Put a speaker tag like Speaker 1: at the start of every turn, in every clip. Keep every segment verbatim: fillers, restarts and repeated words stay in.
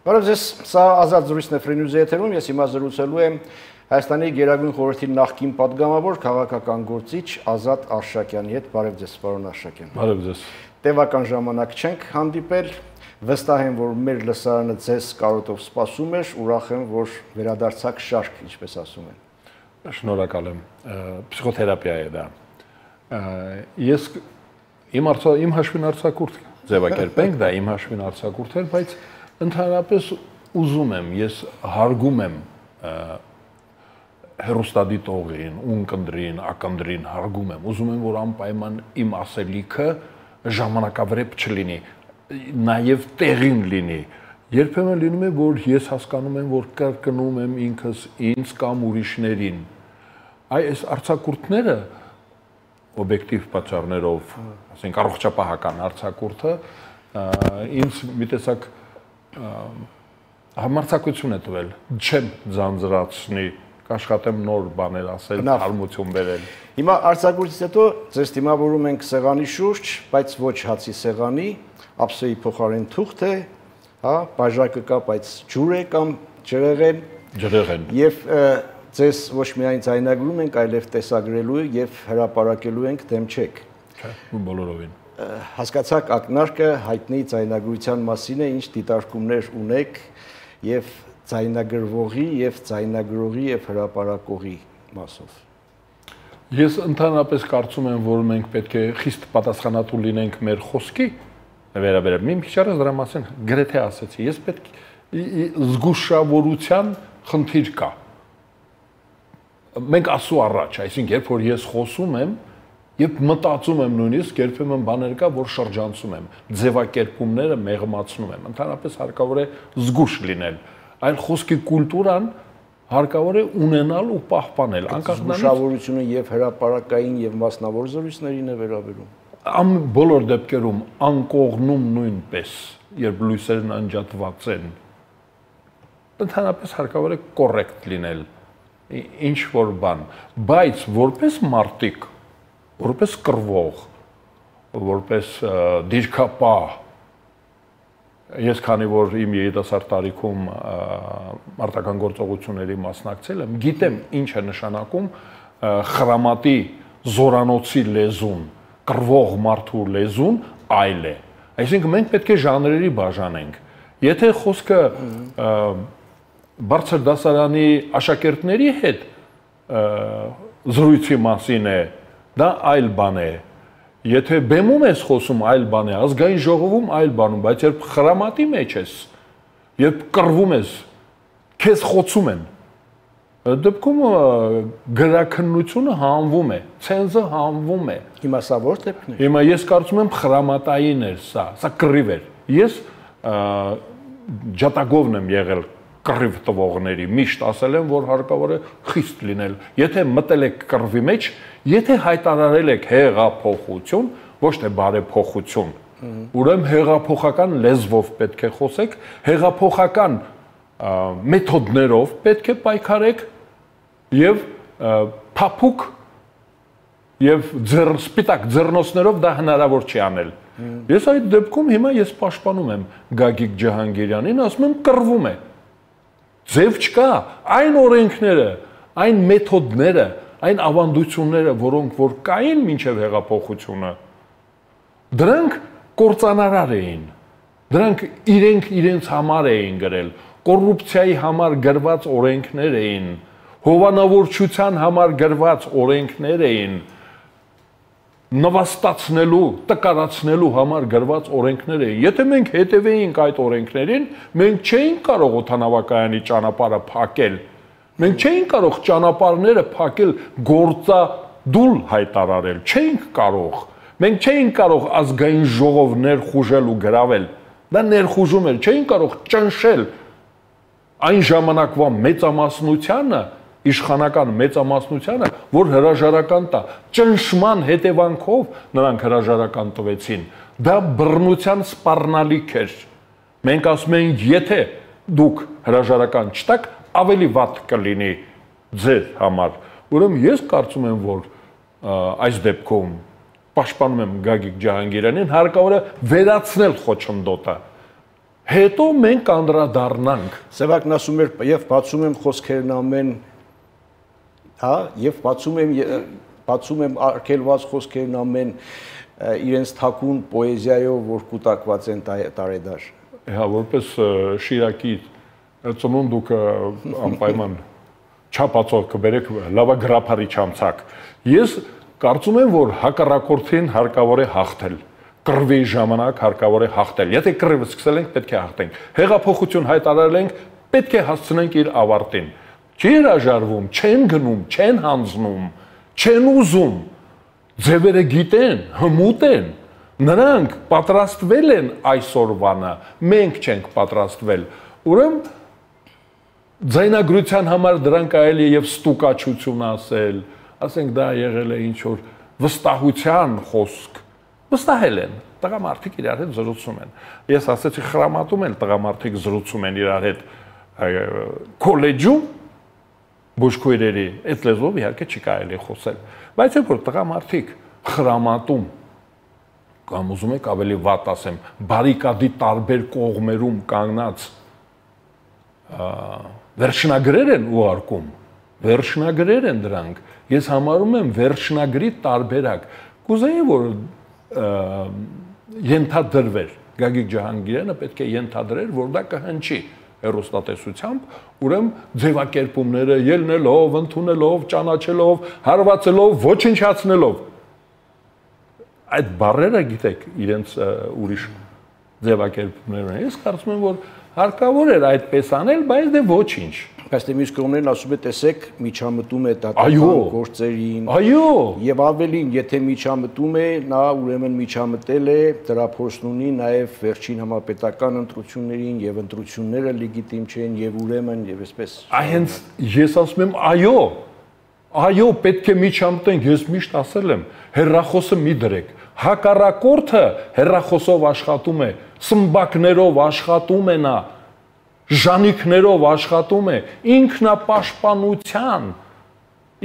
Speaker 1: Բարև ձեզ, սա Ազատ զրույցն է Free News-ի եթերում, ես հիմա զրուցելու եմ Հայաստանի Գերագույն խորհրդի նախկին պատգամավոր քաղաքական գործիչ Ազատ Արշակյանի հետ։ Բարև ձեզ, պարոն Արշակյան։
Speaker 2: Բարև ձեզ։
Speaker 1: Տևական ժամանակ չենք հանդիպել, վստահ եմ, որ մեր լսարանը ձեզ կարոտով սպասում էր, ուրախ եմ, որ վերադարձաք շարք, ինչպես ասում են։
Speaker 2: Շնորհակալ եմ, փսիխոթերապիա է դա։ Ես իմ արցա իմ հաշվին արձակուրդ ձևակերպենք, դա իմ հաշվին արձակուրդ էր, բայց ընդհանրապես ուզում եմ, ես հարգում եմ հեռուստադիտողին, ունկնդրին, ակնդրին հարգում եմ, ուզում եմ, որ անպայման իմ ասելիքը ժամանակավրեպ չլինի, նաև տեղին լինի։ Երբեմն լինում է, որ ես հասկանում եմ, որ կրկնում եմ ինքս ինձ կամ ուրիշներին։ Այս արձակուրդները օբյեկտիվ պատճառներով, ասենք առողջապահական արձակուրդը ինձ մի տեսակ համարձակություն է տվել, չեմ ձանձրացնի, կաշխատեմ նոր բաներ ասել, հարմություն բերել։
Speaker 1: Հիմա արձակուրդից հետո ձեզ դիմավորում ենք սեղանի շուրջ, բայց ոչ հացի սեղանի, ափսեի փոխարեն թուղթ է, հա, բաժակը կա, բայց ջուր է կամ ջրեղեն։
Speaker 2: Ջրեղեն։
Speaker 1: Եվ ձեզ ոչ միայն ձայնագրում ենք, այլև տեսագրելու եւ հրապարակելու ենք, դեմ չեք։
Speaker 2: Չէ, բոլորովին։
Speaker 1: Հասկացաք ակնարկը հայտնի ձայնագրության մասին է, ինչ դիտարկումներ ունեք եւ ձայնագրվողի եւ ձայնագրողի եւ հրապարակողի մասով։
Speaker 2: Ես ընդհանրապես կարծում եմ, որ մենք պետք է խիստ պատասխանատու լինենք մեր խոսքի վերաբերյալ։ Մի քիչ առաջ դրա մասին գրեթե ասացի, ես պետք զգուշավորության խնդիր կա։ Մենք ասու առաջ, այսինքն երբ որ ես խոսում եմ, Եվ մտածում եմ նույնիսկ երբեմն բաներ կա, որ շրջանցում եմ, ձևակերպումները մեղմացնում եմ, ընդհանրապես հարկավոր է զգուշ լինել, այլ խոսքի կուլտուրան հարկավոր է ունենալ ու պահպանել,
Speaker 1: անկախ զգուշավորությունը եւ հրապարակային եւ մասնավոր զրույցներին է վերաբերում։
Speaker 2: Ամ բոլոր դեպքերում անկողնում նույնպես, երբ լույսերն անջատված են, ընդհանրապես հարկավոր է կոռեկտ լինել, ինչ որ բան, բայց որպես մարտիկ որպես կռվող, որպես դիրքապահ, ես քանի որ իմ երիտասարդ տարիքում մարտական գործողությունների մասնակցել եմ, գիտեմ ինչ է նշանակում խրամատի զորանոցի լեզուն, կռվող մարդու լեզուն այլ է։ Այսինքն մենք պետք է ժանրերի բաժանենք։ Եթե խոսքը բարձր դասարանի աշակերտների հետ զրույցի մասին է, դա այլ բան է, եթե բեմում ես խոսում այլ բան է, ազգային ժողովում այլ բանում, բայց երբ խրամատի մեջ ես, երբ կռվում ես, քեզ խոցում են, դեպքում գրաքննությունը հանվում է, ցենզը հանվում է։
Speaker 1: Հիմա սա որ դեպքն է։
Speaker 2: Հիմա ես կարծում եմ խրամատային էր սա, սա կռիվ էր։ Ես ջատագովն եմ եղել կռիվ տվողների, միշտ ասել եմ, որ հարկավոր է խիստ լինել։ Եթե մտել եք կռվի մեջ, եթե հայտարարել եք հեղափոխություն, ոչ թե բարեփոխություն, ուրեմն հեղափոխական լեզվով պետք է խոսեք, հեղափոխական մեթոդներով պետք է պայքարեք եւ փափուկ եւ սպիտակ ձեռնոցներով դա հնարավոր չի անել։ Ես այդ դեպքում հիմա ես պաշտպանում եմ Գագիկ Ջահանգիրյանին, ասում եմ կռվում է։ Ձև չկա, այն օրենքները, այն մեթոդները, այն ավանդությունները, որոնք որ կային մինչև հեղափոխությունը, դրանք կործանարար էին, դրանք իրենք իրենց համար էին գրել, կոռուպցիայի համար գրված օրենքներ էին, հովանավորչության համար գրված օրենքներ էին, նվաստացնելու, տկարացնելու համար գրված օրենքներ էին։ Եթե մենք հետևեինք այդ օրենքներին, մենք չէինք կարող օդանավակայանի ճանապարհը փակել։ Մենք չէինք կարող ճանապարհները փակել գործադուլ հայտարարել, չէինք կարող։ Մենք չէինք կարող ազգային ժողով ներխուժել ու գրավել։ Դա ներխուժում էր, չէինք կարող ճնշել այն ժամանակվա մեծամասնությանը, իշխանական մեծամասնությանը, որ հրաժարական տա, ճնշման հետևանքով նրանք հրաժարական տվեցին, դա բռնության սպառնալիք էր, մենք ասում ենք, եթե դուք հրաժարական չտաք, ավելի վատ կլինի ձեր համար, ուրեմն ես կարծում եմ, որ այս դեպքում պաշտպանում եմ Գագիկ Ջահանգիրյանին, հարկավոր է վերացնել խոչընդոտը, Հետո մենք կանդրադառնանք։
Speaker 1: Սևակն ասում էր եւ բացում եմ խոսքերն ամեն, հա, եւ բացում եմ բացում եմ արգելված խոսքերն ամեն իրենց թակուն պոեզիայով, որ կուտակված են տարեդար։
Speaker 2: Հա, որպես Շիրակի ծնունդուկ անպայման չափածով կբերեք լավա գրափարի չամցակ։ Ես կարծում եմ, որ հակառակորդին հարկավոր է հաղթել։ Կռվի ժամանակ հարկավոր է հաղթել։ Եթե կռիվը սկսել ենք, պետք է հաղթենք։ Հեղափոխություն հայտարարել ենք, պետք է հասցնենք իր ավարտին։ Չի հրաժարվում, չեն գնում, չեն հանձնում, չեն ուզում։ Ձևերը գիտեն, հմուտ են։ Նրանք պատրաստվել են այսօրվանը, մենք չենք պատրաստվել։ Ուրեմն ձայնագրության համար դրանք այլ է եւ ստուկաչություն ասել, ասենք դա եղել է ինչ որ վստահության խոսք։ Վստահել են, տղամարդիկ իրար հետ զրուցում են։ Ես ասեցի խրամատում են տղամարդիկ զրուցում են իրար հետ քոլեջում բուժքույրերի, այդ լեզվով իհարկե չի կարելի խոսել։ Բայց երբ որ տղամարդիկ խրամատում կամ ուզում եք ավելի վատ ասեմ, բարիկադի տարբեր կողմերում կանգնած վերջնագրեր են ուղարկում, վերջնագրեր են դրանք։ Ես համարում եմ վերջնագրի տարբերակ։ Կուզեի որ ենթադրվեր Գագիկ Ջահանգիրյանը պետք է ենթադրեր, որ դա կհնչի հեռուստատեսությամբ, ուրեմն ձևակերպումները ելնելով, ընդունելով, ճանաչելով, հարվածելով, ոչնչացնելով։ Այդ բառերը գիտեք, իրենց ուրիշ ձևակերպումներ են։ Ես կարծում եմ, որ հարկավոր էր այդպես անել, բայց դե ոչինչ։
Speaker 1: Բայց դե մյուս կողմերն ասում է, տեսեք, միջամտում է դատական գործերին։
Speaker 2: Այո։
Speaker 1: Եվ ավելին, եթե միջամտում է, նա ուրեմն միջամտել է, դրա փորձն ունի նաև վերջին համապետական ընտրություններին եւ ընտրությունները լեգիտիմ չեն եւ ուրեմն եւ այսպես։
Speaker 2: Այնց ես ասում եմ, այո։ Այո, պետք է միջամտենք, ես միշտ ասել եմ, հեռախոսը մի դրեք։ Հակառակորդը հեռախոսով աշխատում է, սմբակներով աշխատում է նա, ժանիքներով աշխատում է, ինքնապաշտպանության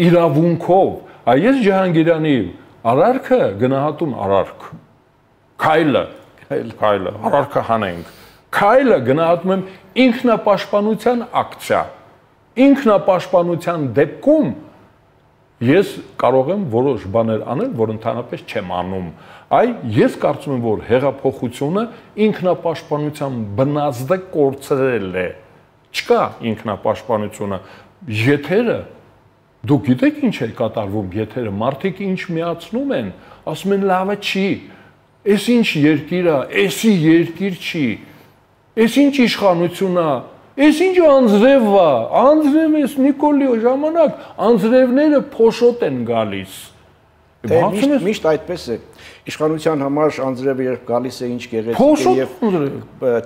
Speaker 2: իրավունքով։ Այս Ջահանգիրյանի արարքը գնահատում արարք։ Քայլը, քայլը, արարքը հանենք։ Քայլը գնահատում եմ ինքնապաշտպանության ակցիա։ Ինքնապաշտպանության դեպքում ես կարող եմ որոշ բաներ անել, որ ընդհանրապես չեմ անում։ Այ ես կարծում եմ, որ հեղափոխությունը ինքնապաշտպանության բնազդը կորցրել է։ Չկա ինքնապաշտպանությունը։ Եթերը, դուք գիտեք ինչ է կատարվում եթերը, մարդիկ ինչ միացնում են, ասում են լավը չի, էս ինչ երկիր է, էսի երկիր չի, էս ինչ իշխանություն է, Ես ինչ անձրև է, անձրև ես Նիկոլի ժամանակ, անձրևները փոշոտ են գալիս։
Speaker 1: Միշտ այդպես է, իշխանության համար անձրևը երբ գալիս է ինչ գեղեցիկ է և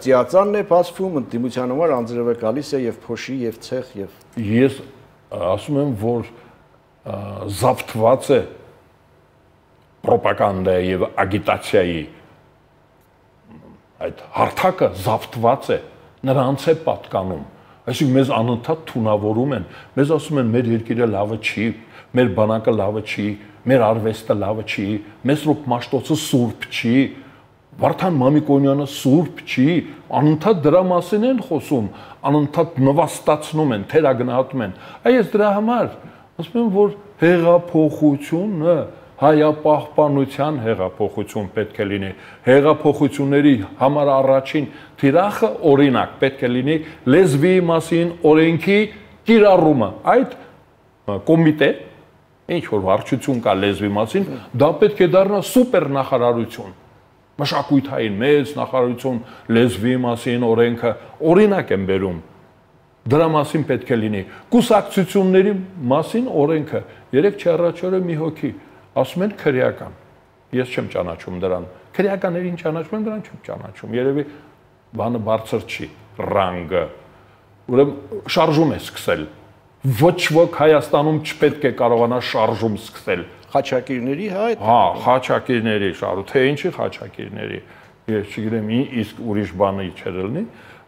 Speaker 1: ծիածանն է բացվում, ընդդիմության համար անձրևը գալիս է և փոշի և ցեխ և…
Speaker 2: Ես ասում եմ, որ զավթված է պրոպագանդայի և ագիտացիայի այդ հարթակը զավթված է, նրանց է պատկանում, այսինքն մեզ անընդհատ թունավորում են, մեզ ասում են մեր երկիրը լավը չի, մեր բանակը լավը չի, մեր արվեստը լավը չի, Մեսրոպ Մաշտոցը սուրբ չի, Վարդան Մամիկոնյանը սուրբ չի, անընդհատ դրա մասին են խոսում, անընդհատ նվաստացնում են, թերագնահատում են։ Այս դրա համար ասում եմ, որ հեղափոխությունը հայապահպանության հեղափոխություն պետք է լինի, հեղափոխությունների համար առաջին թիրախը օրինակ պետք է լինի լեզվի մասին օրենքի կիրառումը, այդ կոմիտե, ինչ որ վարչություն կա լեզվի մասին, դա պետք է դառնա սուպեր նախարարություն, մշակույթային մեծ նախարարություն լեզվի մասին օրենքը օրինակ են բերում, դրա մասին պետք է լինի, կուսակցությունների մասին օրենքը, երեք չառաջ օրը մի հոգի ասում են քրեական, ես չեմ ճանաչում դրան, քրեականներին ճանաչում եմ, դրան չեմ ճանաչում, երևի բանը բարձր չի, ռանգը, ուրեմն շարժում է սկսել, ոչ ոք Հայաստանում չպետք է կարողանա շարժում սկսել։
Speaker 1: Խաչակիրների հայտ։
Speaker 2: Հա, խաչակիրների շարժում, թե ինչի խաչակիրների, ես չգիտեմ, իսկ ուրիշ բանը չէր լինի,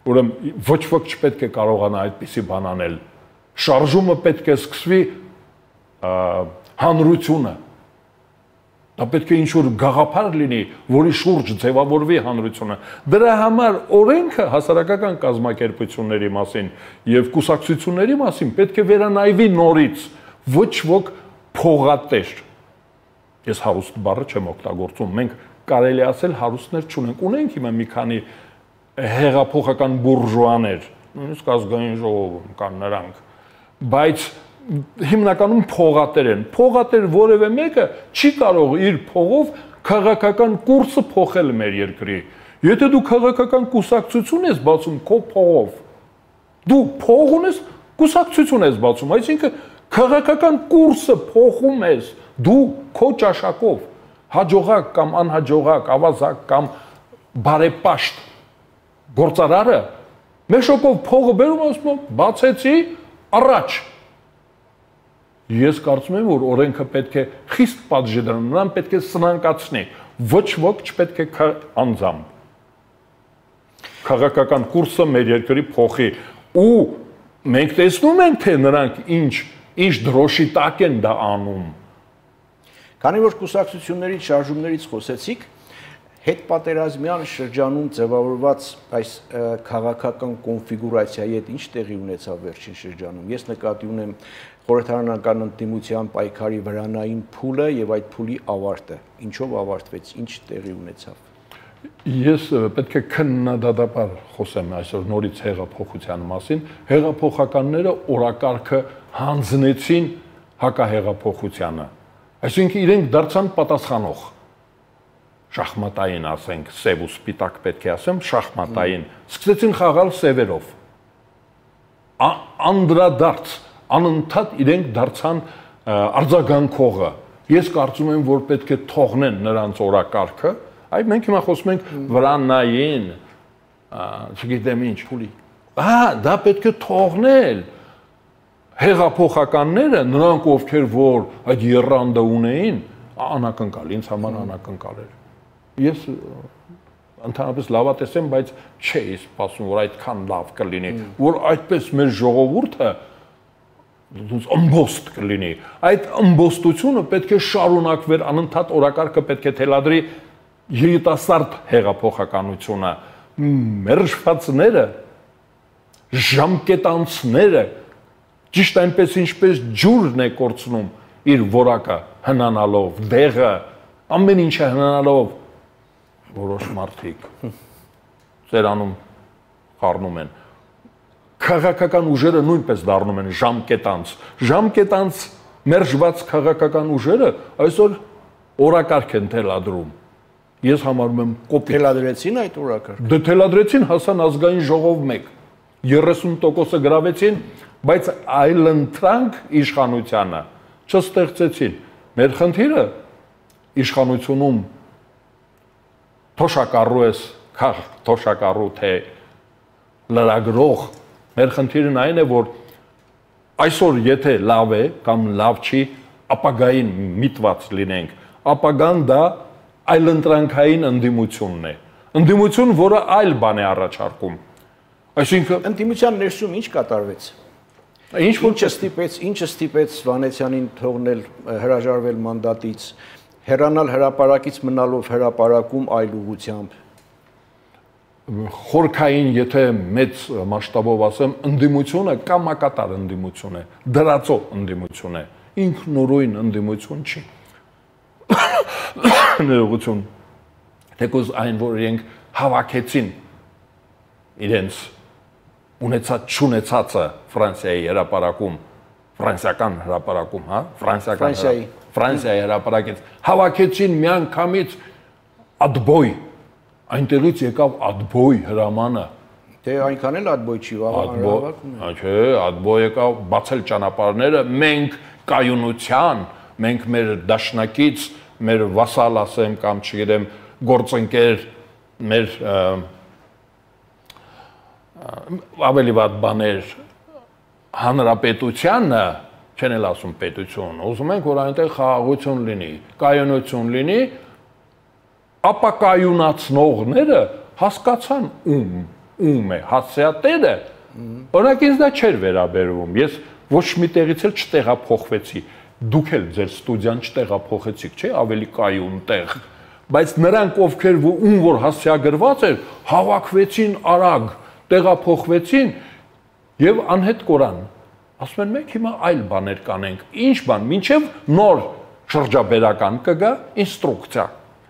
Speaker 2: ուրեմն ոչ ոք չպետք է կարողանա այդպիսի բան անել։ Շարժումը պետք է սկսվի հանրությունը Դա պետք է ինչ-որ գաղափար լինի, որի շուրջ ձևավորվի հանրությունը։ Դրա համար օրենքը հասարակական կազմակերպությունների մասին եւ կուսակցությունների մասին պետք է վերանայվի նորից, ոչ ոք փողատեր։ Ես հարուստ բառը չեմ օգտագործում, մենք կարելի ասել հարուստներ չունենք, ունենք հիմա մի քանի հեղափոխական բուրժուաներ, նույնիսկ ազգային ժողովում կան նրանք, բայց հիմնականում փողատեր են։ Փողատեր որևէ մեկը չի կարող իր փողով քաղաքական կուրսը փոխել մեր երկրի։ Եթե դու քաղաքական կուսակցություն ես բացում քո փողով, դու փող ունես, կուսակցություն ես բացում, այսինքն քաղաքական կուրսը փոխում ես դու քո ճաշակով, հաջողակ կամ անհաջողակ, ավազակ կամ բարեպաշտ գործարարը մեշոկով փողը բերում ասում բացեցի առաջ։ Ես կարծում եմ, որ օրենքը պետք է խիստ պատժի դրան, նրան պետք է սնանկացնի, ոչ ոք չպետք է անձամբ։ Քաղաքական կուրսը մեր երկրի փոխի ու մենք տեսնում ենք, թե նրանք ինչ ինչ դրոշի տակ են դա անում։
Speaker 1: Քանի որ կուսակցությունների շարժումներից խոսեցիք, հետպատերազմյան շրջանում ձևավորված այս քաղաքական կոնֆիգուրացիայի հետ ինչ տեղի ունեցավ վերջին շրջանում։ Ես նկատի ունեմ խորհրդարանական ընդդիմության պայքարի վրանային փուլը եւ այդ փուլի ավարտը։ Ինչով ավարտվեց, ինչ տեղի ունեցավ։
Speaker 2: Ես պետք է քննադատաբար խոսեմ այսօր նորից հեղափոխության մասին։ Հեղափոխականները օրակարգը հանձնեցին հակահեղափոխությանը։ Այսինքն իրենք դարձան պատասխանող։ Շախմատային ասենք, սև ու սպիտակ պետք է ասեմ, շախմատային, սկսեցին խաղալ սևերով։ Անդրադարձ, անընդհատ իրենք դարձան արձագանքողը։ Ես կարծում եմ, որ պետք է թողնեն նրանց օրակարգը, այ մենք հիմա խոսում ենք վրանային, չգիտեմ ինչ, փուլի։ Հա, դա պետք է թողնել։ Հեղափոխականները, նրանք ովքեր որ այդ եռանդը ունեին, անակնկալ, ինձ համար անակնկալ էր։ Ես ընդհանրապես լավատես եմ, բայց չէի սպասում, որ այդքան լավ կլինի, որ այդպես մեր ժողովուրդը ըմբոստ կլինի։ Այդ ըմբոստությունը պետք է շարունակվեր, անընդհատ օրակարգը պետք է թելադրի երիտասարդ հեղափոխականությունը, մերժվածները, ժամկետանցները, ճիշտ այնպես ինչպես ջուրն է կորցնում իր որակը հնանալով, դեղը, ամեն ինչը հնանալով, որոշ մարդիկ ծերանում խառնում են։ Քաղաքական ուժերը նույնպես դառնում են ժամկետանց։ Ժամկետանց մերժված քաղաքական ուժերը այսօր օրակարգ են թելադրում։ Ես համարում եմ կոպիտ։
Speaker 1: Թելադրեցին այդ օրակարգը։
Speaker 2: Դե թելադրեցին, հասան ազգային ժողով մեկ։ երեսուն տոկոսը գրավեցին, բայց այլընտրանք իշխանությանը չստեղծեցին։ Մեր խնդիրը իշխանությունում թոշակառու ես, քաղ թոշակառու թե լրագրող, մեր խնդիրն այն է, որ այսօր եթե լավ է կամ լավ չի, ապագային միտված լինենք, ապագան դա այլընտրանքային ընդդիմությունն է, ընդդիմություն, որը այլ բան է առաջարկում, այսինքն
Speaker 1: ընդդիմության ներսում ինչ կատարվեց։ Ինչ ինչը ստիպեց, ինչը ստիպեց Վանեցյանին թողնել հրաժարվել մանդատից, հեռանալ հրապարակից մնալով հրապարակում այլ ուղղությամբ։
Speaker 2: Խորքային, եթե մեծ մասշտաբով ասեմ, ընդդիմությունը կամակատար ընդդիմություն է, դրածո ընդդիմություն է, ինքնուրույն ընդդիմություն չի։ Ներողություն, թեկուզ այն, որ իրենք հավաքեցին իրենց ունեցած չունեցածը Ֆրանսիայի հրապարակում, ֆրանսիական հրապարակում, հա, ֆրանսիական Ֆրանսիայի հրապարակից հավաքեցին միանգամից ադբոյ, այնտեղից եկավ ադբոյ հրամանը։
Speaker 1: Թե այնքան էլ ադբոյ չի, հավաքում է։
Speaker 2: Չէ, ադբոյ եկավ բացել ճանապարհները, մենք կայունության, մենք մեր դաշնակից, մեր վասալ ասեմ կամ չգիտեմ, գործընկեր, մեր ավելի վատ բաներ հանրապետությանը, չեն էլ ասում պետություն, ուզում ենք, որ այնտեղ խաղաղություն լինի, կայունություն լինի, ապա կայունացնողները հասկացան ում, ում է, հասցեատերը, օրինակ ինձ դա չէր վերաբերվում, ես ոչ մի տեղից էլ չտեղափոխվեցի, դուք էլ ձեր ստուդիան չտեղափոխեցիք, չէ՞, ավելի կայուն տեղ, բայց նրանք ովքեր ում որ հասցեագրված էր, հավաքվեցին արագ, տեղափոխվեցին եւ անհետ կորան։ Ասում են մենք հիմա այլ բաներ կանենք։ Ինչ բան, մինչեւ նոր շրջաբերական կգա ինստրուկցիա։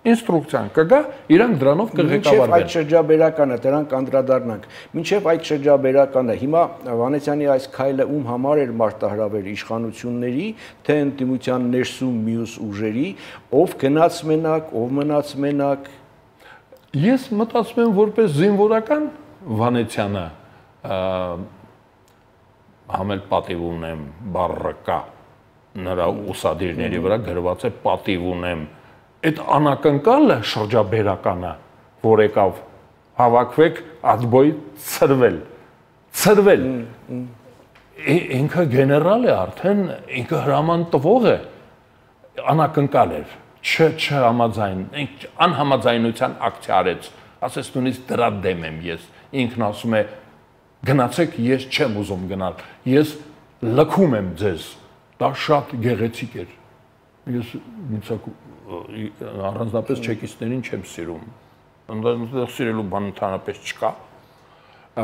Speaker 2: Ինստրուկցիան կգա, իրանք դրանով կղեկավարվեն։
Speaker 1: Մինչև այդ շրջաբերականը դրանք անդրադառնանք։ Մինչև այդ շրջաբերականը հիմա Վանեցյանի այս քայլը ում համար էր մարտահրավեր իշխանությունների, թե ընդդիմության ներսում մյուս ուժերի, ով գնաց մենակ, ով մնաց մենակ։
Speaker 2: Ես մտածում եմ որպես զինվորական Վանեցյանը համել պատիվ ունեմ, բառը կա նրա ուսադիրների վրա գրված է պատիվ ունեմ։ Այդ անակնկալը շրջաբերականը, որ եկավ հավաքվեք ադբոյ ծրվել, ծրվել, ինքը գեներալ է արդեն, ինքը հրաման տվող է, անակնկալ էր, չհամաձայն, անհամաձայնության ակցիա արեց, ասես նույնիսկ դրա դեմ եմ ես, ինքն ասում է գնացեք, ես չեմ ուզում գնալ, ես լքում եմ ձեզ, դա շատ գեղեցիկ էր, ես առանձնապես չեկիստներին չեմ սիրում, ընդեղ սիրելու բան ընդհանրապես չկա,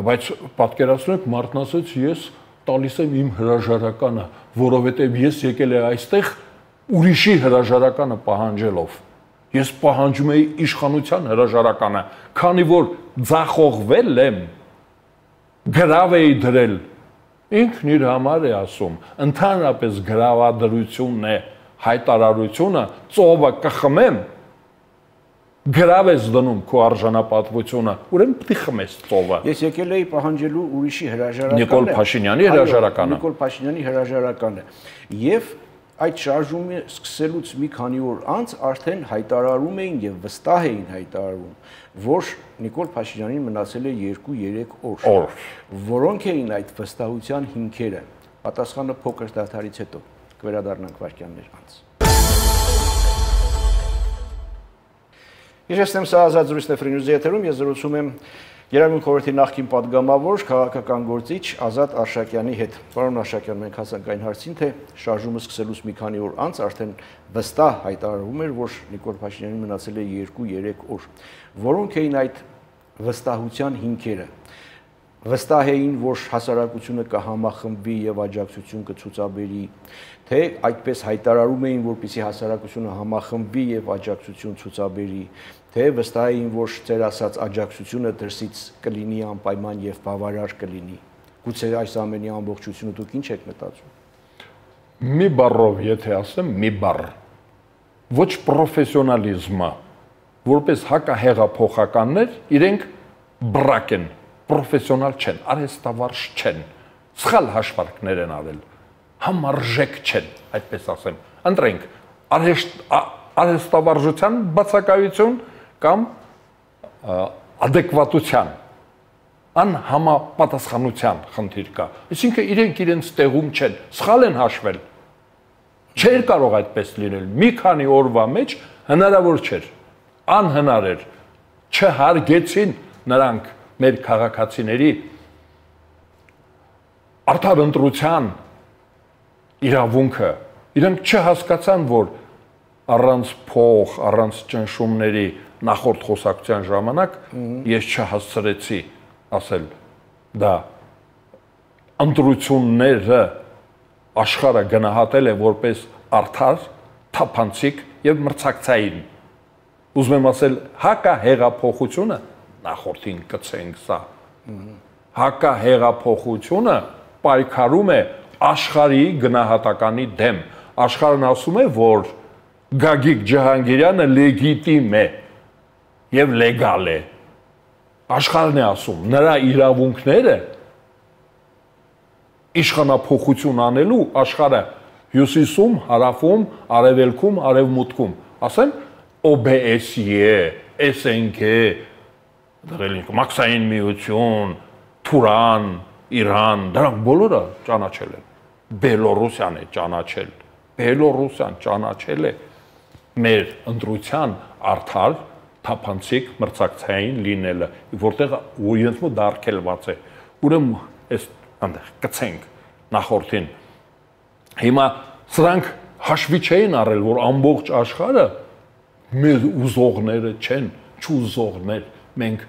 Speaker 2: բայց պատկերացնեք մարդն ասեց ես տալիս եմ իմ հրաժարականը, որովհետև ես եկել եմ այստեղ ուրիշի հրաժարականը պահանջելով, ես պահանջում էի իշխանության հրաժարականը, քանի որ ձախողվել եմ, գրավ էի դրել, ինքն իր համար է ասում, ընդհանրապես գրավադրությունն է, հայտարարությունը, ծովը կխմեմ, գրավ ես դնում քո արժանապատվությունը, ուրեմն պիտի խմես ծովը։
Speaker 1: Ես եկել էի պահանջելու ուրիշի հրաժարականը։
Speaker 2: Նիկոլ Փաշինյանի հրաժարականը։
Speaker 1: Նիկոլ Փաշինյանի հրաժարականը։ Եվ այդ շարժումը սկսելուց մի քանի օր անց արդեն հայտարարում էին եւ վստահ էին հայտարարում, որ Նիկոլ Փաշինյանին մնացել է երկու-երեք օր, որոնք էին այդ վստահության հիմքերը։ Պատասխանը փոքր դադարից հետո կվերադառնանք վայրկյաններ անց։ Ես եմ սա Ազատ զրույցն է Free News-ի եթերում, ես զրուցում եմ Երևան խորհրդի նախկին падգամավոր քաղաքական գործիչ Ազատ Արշակյանի հետ։ Պարոն Արշակյան, մենք հասանք այն հարցին, թե շարժումը սկսելուց մի քանի օր անց արդեն վստահ հայտարարվում էր, որ Նիկոլ Փաշինյանին մնացել է երկու-երեք օր։ Որոնք էին այդ վստահության հիմքերը։ Վստահ էին, որ հասարակությունը կհամախմբվի եւ աջակցություն կցուցաբերի, թե այդպես հայտարարում էին, որպեսզի հասարակությունը համախմբվի եւ աջակցություն ցուցաբերի, թե վստահ էին, որ ծեր ասած աջակցությունը դրսից կլինի անպայման եւ բավարար կլինի։ Գուցե այս ամենի ամբողջությունը դուք ինչ եք մտածում։
Speaker 2: Մի բառով, եթե ասեմ, մի բառ։ Ոչ պրոֆեսիոնալիզմը, որպես հակահեղափոխականներ, իրենք բրակ են, պրոֆեսիոնալ չեն, արհեստավարժ չեն, սխալ հաշվարկներ են արել, համարժեք չեն, այդպես ասեմ։ Ընտրենք արհեստավարժության բացակայություն կամ ադեկվատության, անհամապատասխանության խնդիր կա։ Այսինքն իրենք իրենց տեղում չեն, սխալ են հաշվել։ Չէր կարող այդպես լինել։ Մի քանի օրվա մեջ հնարավոր չէր, անհնար էր։ Չհարգեցին նրանք մեր քաղաքացիների արդար ընտրության իրավունքը, իրենք չհասկացան, որ առանց փող, առանց ճնշումների նախորդ խոսակցության ժամանակ ես չհասցրեցի ասել դա ընտրությունները աշխարհը գնահատել է որպես արդար, թափանցիկ եւ մրցակցային։ Ուզում եմ ասել հակահեղափոխությունը նախորդին կցենք սա։ Հակահեղափոխությունը պայքարում է աշխարհի գնահատականի դեմ։ Աշխարհն ասում է, որ Գագիկ Ջահանգիրյանը լեգիտիմ է եւ լեգալ է։ Աշխարհն է ասում, նրա իրավունքները իշխանափոխություն անելու աշխարհը հյուսիսում, հարավում, արևելքում, արևմուտքում, ասեն O B S E, S N K, Մաքսային միություն, Թուրան, Իրան, դրանք բոլորը ճանաչել են։ Բելոռուսիան է ճանաչել, Բելոռուսիան ճանաչել է մեր ընտրության արդար, թափանցիկ մրցակցային լինելը, որտեղ իրենց մոտ դարքելված է։ Ուրեմն այս այնտեղ կցենք նախորդին։ Հիմա սրանք հաշվի չէին առել, որ ամբողջ աշխարհը մեր ուզողները չեն, չուզողներ, մենք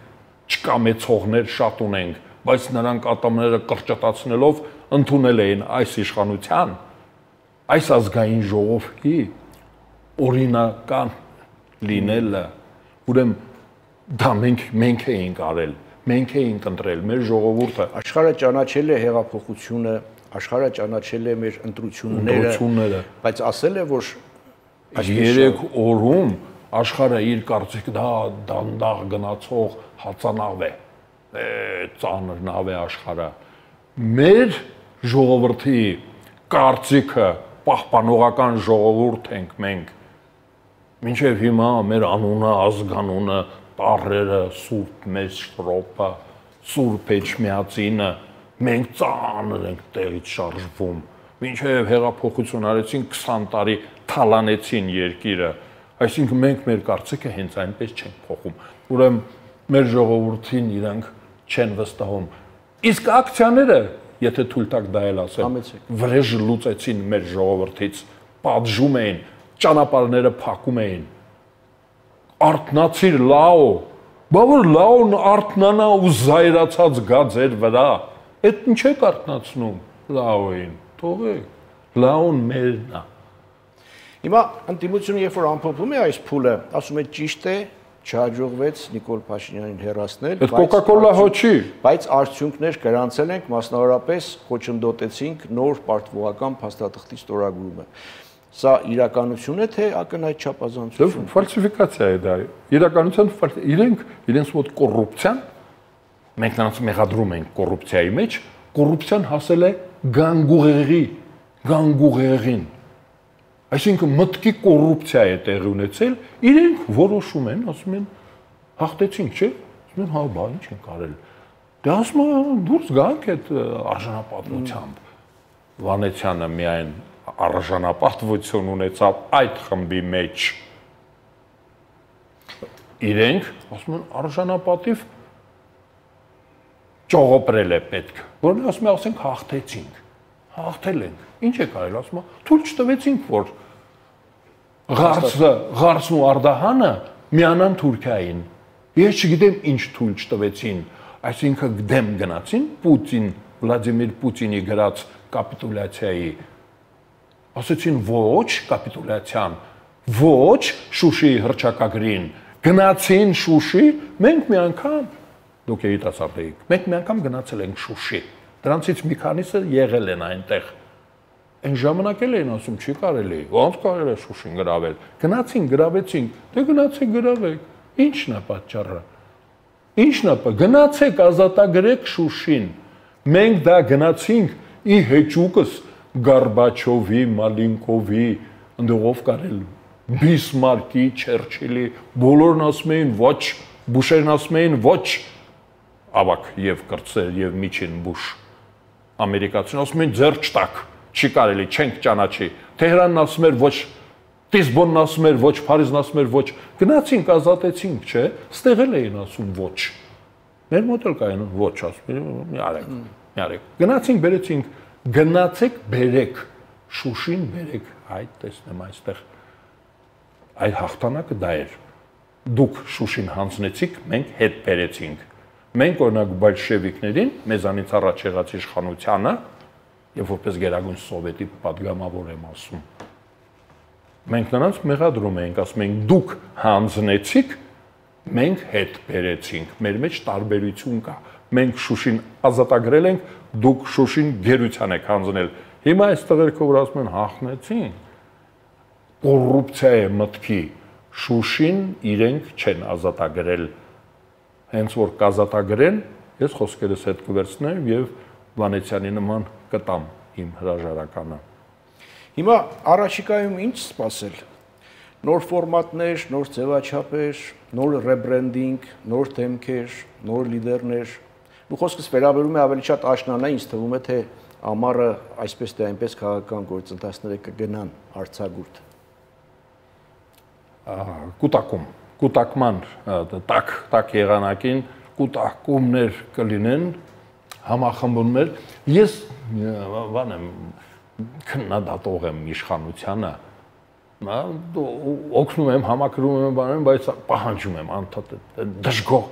Speaker 2: չկամեցողներ շատ ունենք, բայց նրանք ատամները կրճտացնելով ընդունել էին այս իշխանության, այս ազգային ժողովի օրինական լինելը, ուրեմն դա մենք մենք էինք արել, մենք էինք ընտրել մեր ժողովուրդը։
Speaker 1: Աշխարհը ճանաչել է հեղափոխությունը, աշխարհը ճանաչել է մեր ընտրությունները, բայց ասել է, որ
Speaker 2: երեք օրում աշխարհը իր կարծիք դա դանդաղ գնացող հացանավ է, ծանր նավ է աշխարհը։ Մեր ժողովրդի կարծիքը պահպանողական ժողովուրդ ենք մենք։ Մինչև հիմա մեր անունը, ազգանունը, տառերը, սուրբ մեծ շրոպը, սուրբ էջմիածինը, մենք ծանր ենք տեղից շարժվում։ Մինչև հեղափոխություն արեցին քսան տարի թալանեցին երկիրը, այսինքն մենք մեր կարծիքը հենց այնպես չենք փոխում։ Ուրեմն մեր ժողովրդին իրանք չեն վստահում։ Իսկ ակցիաները, եթե թույլ տաք դա էլ ասեմ, վրեժ լուծեցին մեր ժողովրդից, պատժում էին, ճանապարհները փակում էին։ Արթնացիր լաո, բա որ լաոն արթնանա ու զայրացած գա ձեր վրա, այդ ինչ եք արթնացնում լաոին, թողեք, լաոն մերն է։
Speaker 1: Հիմա ընդդիմությունը երբ որ ամփոփում է այս փուլը, ասում է ճիշտ է, չհաջողվեց Նիկոլ Փաշինյանին հեռացնել,
Speaker 2: բայց Coca-Cola հոչի,
Speaker 1: բայց արդյունքներ գրանցել ենք, մասնավորապես խոչընդոտեցինք նոր պարտվողական փաստաթղթի ստորագրումը։ Սա իրականություն է, թե ակնհայտ չափազանցություն։
Speaker 2: Ֆալսիֆիկացիա է դա։ Իրականության իրենք իրենց մոտ կոռուպցիան, մենք նրանց մեղադրում ենք կոռուպցիայի մեջ, կոռուպցիան հասել է գանգուղեղի, գանգուղեղին։ Այսինքն մտքի կոռուպցիա է տեղի ունեցել, իրենք որոշում են, ասում են, հաղթեցինք, չէ՞, ասում են, հա, բա ինչ ենք արել։ Դե ասում են, դուրս գանք այդ արժանապատվությամբ։ Վանեցյանը միայն արժանապատվություն ունեցավ այդ խմբի մեջ։ Իրենք, ասում են, արժանապատիվ ճողոպրել է պետք, որն ասում է, ասենք, հաղթեցինք, հաղթել ենք, ինչ եք արել, ասում է, թույլ չտվեցինք, որ Ղարսը, Ղարսն ու Արդահանը միանան Թուրքիային։ Ես չգիտեմ ինչ թույլ չտվեցին, այսինքն դեմ գնացին Պուտին, Վլադիմիր Պուտինի գրած կապիտուլյացիայի։ Ասեցին ոչ կապիտուլյացիան, ոչ Շուշիի հռչակագրին, գնացին Շուշի, մենք մի անգամ, դուք երիտասարդ եք, մենք մի անգամ գնացել ենք Շուշի, դրանցից մի քանիսը եղել են այնտեղ։ Այն ժամանակ էլ էին ասում, չի կարելի, ոնց կարելի է Շուշին գրավել։ Գնացին, գրավեցին, դե գնացեք գրավեք, ի՞նչն է պատճառը։ Ի՞նչն է, գնացեք ազատագրեք Շուշին։ Մենք դա գնացինք ի հեճուկս Գորբաչովի, Մալինկովի, ընդողով կարել Բիսմարկի, Չերչիլի, բոլորն ասում էին ոչ, Բուշերն ասում էին ոչ, ավակ եւ կրտսեր եւ միջին Բուշ։ Ամերիկացին ասում էին ձեռ չտակ, չի կարելի, չենք ճանաչի։ Թեհրանն ասում էր ոչ, Լիսբոնն ասում էր ոչ, Փարիզն ասում էր ոչ։ Գնացինք, ազատեցինք, չէ՞, ստեղել էին ասում ոչ։ Մեր մոտ էլ կային ոչ, ասում են, մի արեք, մի արեք։ Գնացինք, բերեցինք, գնացեք, բերեք, Շուշին բերեք, այ տեսնեմ այստեղ։ Այդ հաղթանակը դա էր։ Դուք Շուշին հանձնեցիք, մենք հետ բերեցինք։ Մենք օրինակ բոլշևիկներին, մեզանից առաջ եղած իշխանությանը, եւ որպես գերագույն սովետի պատգամավոր եմ ասում, մենք նրանց մեղադրում ենք, ասում ենք դուք հանձնեցիք, մենք հետ բերեցինք, մեր մեջ տարբերություն կա, մենք Շուշին ազատագրել ենք, դուք Շուշին գերության եք հանձնել։ Հիմա այս տղերքը որ ասում են հաղթեցին, կոռուպցիա է մտքի, Շուշին իրենք չեն ազատագրել։ Հենց որ կազատագրեն, ես խոսքերս հետ կվերցնեմ եւ Վանեցյանի նման կտամ իմ հրաժարականը։
Speaker 1: Հիմա առաջիկայում ինչ սպասել։ Նոր ֆորմատներ, նոր ձևաչափեր, նոր ռեբրենդինգ, նոր դեմքեր, նոր լիդերներ։ Ու խոսքս վերաբերում է ավելի շատ աշնանա, ինձ թվում է, թե ամառը այսպես թե այնպես քաղաքական գործընթացները կգնան արձակուրդ։
Speaker 2: Կուտակում, կուտակման տակ, տակ եղանակին կուտակումներ կլինեն, համախմբումներ։ Ես բան եմ քննադատող եմ իշխանությանը, օգնում եմ, համակրում եմ բաներում, բայց պահանջում եմ անդադ դժգոհ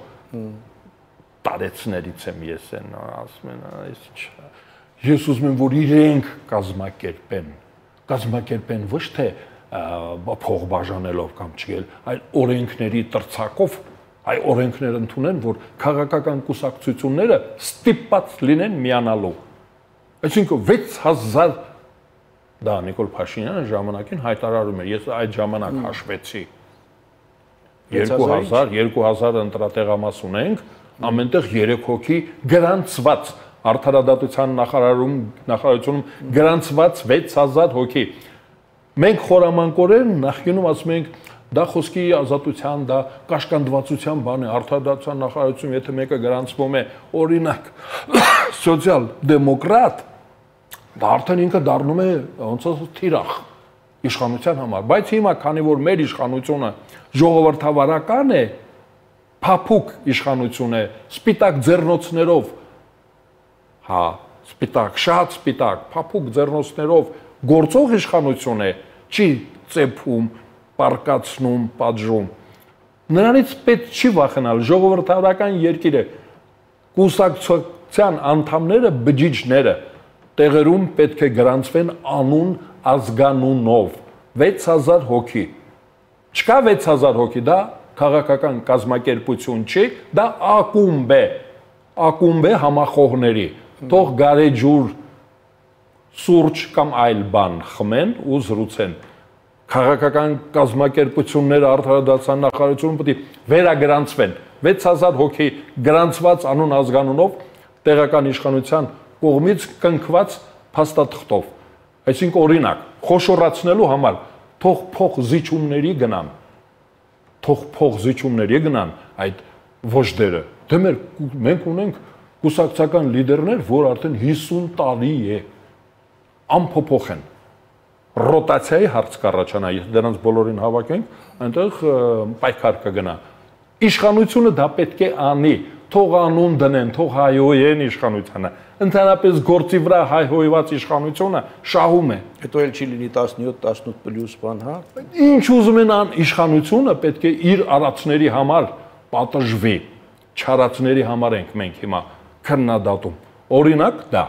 Speaker 2: տարեցներից եմ ես են ասում են, այս ինչ։ Ես ուզում եմ, որ իրենք կազմակերպեն, կազմակերպեն ոչ թե փող բաժանելով կամ չգել, այլ օրենքների տրցակով, այ օրենքներ ընդունեն, որ քաղաքական կուսակցությունները ստիպված լինեն միանալու։ Այսինքն վեց հազար դա Նիկոլ Փաշինյանը ժամանակին հայտարարում էր, ես այդ ժամանակ հաշվեցի երկու հազար, երկու հազար ընտրատեղամաս ունենք, ամենտեղ երեք հոգի գրանցված արդարադատության նախարարում նախարարությունում գրանցված վեց հազար հոգի։ Մենք խորամանկորեն նախկինում ասում ենք դա խոսքի ազատության, դա կաշկանդվածության բան է, արդարադատության նախարարությունում եթե մեկը գրանցվում է օրինակ սոցիալ-դեմոկրատ, դա արդեն ինքը դառնում է ոնց ասած թիրախ իշխանության համար, բայց հիմա քանի որ մեր իշխանությունը ժողովրդավարական է, փափուկ իշխանություն է, սպիտակ ձեռնոցներով, հա, սպիտակ, շատ սպիտակ, փափուկ ձեռնոցներով գործող իշխանություն է, չի ծեփում, պարկացնում, պատժում։ Նրանից պետք չի վախենալ, ժողովրդավարական երկիր է, կուսակցության անդամները, բջիջները տեղերում պետք է գրանցվեն անուն ազգանունով, վեց հազար հոգի։ Չկա վեց հազար հոգի, դա քաղաքական կազմակերպություն չի, դա ակումբ է, ակումբ է համախոհների, թող գարեջուր, սուրճ կամ այլ բան խմեն ու զրուցեն։ Քաղաքական կազմակերպությունները արդարադատության նախարարությունում պետք է վերագրանցվեն, վեց հազար հոգի գրանցված անուն ազգանունով տեղական իշխանության կողմից կնքված փաստաթղթով։ Այսինքն օրինակ, խոշորացնելու համար թող փող զիջումների գնան, թող փող զիջումների գնան այդ ոչդերը։ Դե մեր մենք ունենք կուսակցական լիդերներ, որ արդեն հիսուն տարի է անփոփոխ են։ Ռոտացիայի հարց կառաջանա, եթե դրանց բոլորին հավաքենք, այնտեղ պայքար կգնա։ Իշխանությունը դա պետք է անի, թող անուն դնեն, թող հայհոյեն իշխանությանը։ Ընդհանրապես գործի վրա հայհոյված իշխանությունը շահում է։
Speaker 1: Հետո էլ չի լինի տասնյոթ տասնութ պլյուս բան, հա։
Speaker 2: Ինչ ուզում են ան իշխանությունը պետք է իր արածների համար պատժվի։ Չարածների համար ենք մենք հիմա քննադատում։ Օրինակ դա։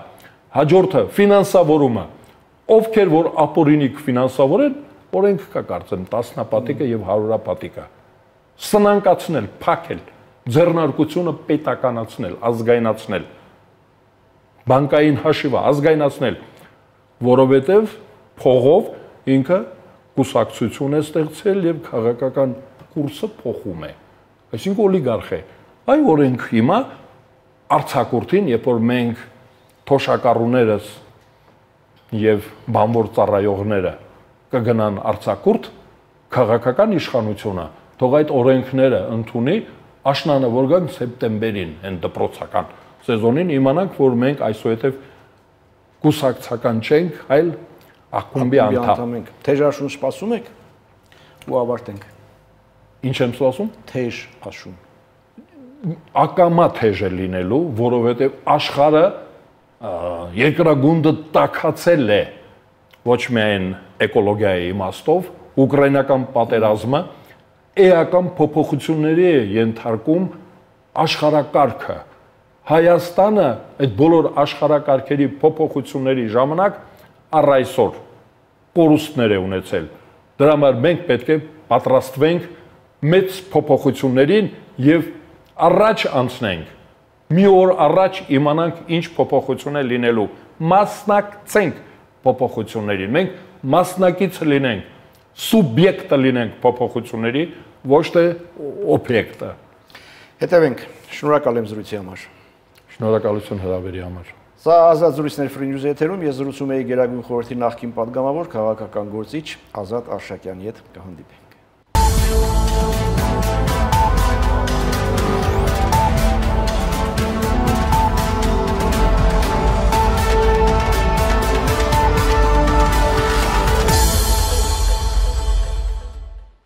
Speaker 2: Հաջորդը ֆինանսավորումը։ Ովքեր որ ապօրինիկ ֆինանսավորեն, օրենք կա կարծեմ տասնապատիկը եւ հարյուրապատիկը։ Սնանկացնել, փակել, ձեռնարկությունը պետականացնել, ազգայնացնել, բանկային հաշիվը ազգայնացնել, որովհետեւ փողով ինքը կուսակցություն է ստեղծել եւ քաղաքական կուրսը փոխում է։ Այսինքն օլիգարխ է։ Այ օրենք հիմա արցակուրտին, երբ որ մենք թոշակառուներս եւ բանվոր ծառայողները կգնան արցակուրտ, քաղաքական իշխանությունը թող այդ օրենքները ընդունի, աշնանը որ գան սեպտեմբերին են դպրոցական սեզոնին իմանանք, որ մենք այսուհետև կուսակցական չենք, այլ ակումբի անդամ
Speaker 1: ենք։ Թեժ աշուն սպասում եք ու ավարտենք։
Speaker 2: Ինչ եմ սպասում։
Speaker 1: Թեժ աշուն։
Speaker 2: Ակամա թեժ է լինելու, որովհետև աշխարհը երկրագունդը տաքացել է ոչ միայն էկոլոգիայի իմաստով, ուկրաինական պատերազմը էական փոփոխությունների է ենթարկում աշխարհակարգը։ Հայաստանը այդ բոլոր աշխարհակարգերի փոփոխությունների ժամանակ առ այսօր կորուստներ է ունեցել։ Դրա համար մենք պետք է պատրաստվենք մեծ փոփոխություններին եւ առաջ անցնենք։ Մի օր առաջ իմանանք ինչ փոփոխություն է լինելու, մասնակցենք փոփոխություններին, մենք մասնակից լինենք, սուբյեկտը լինենք փոփոխությունների, ոչ թե օբյեկտը։
Speaker 1: Հետևենք, շնորհակալ եմ զրույցի համար։
Speaker 2: Շնորհակալություն հրավերի համար։
Speaker 1: Սա ազատ զրույցներ Free News եթերում, ես զրուցում էի Գերագույն խորհրդի նախկին պատգամավոր քաղաքական գործիչ Ազատ Արշակյանի հետ, կհանդիպենք։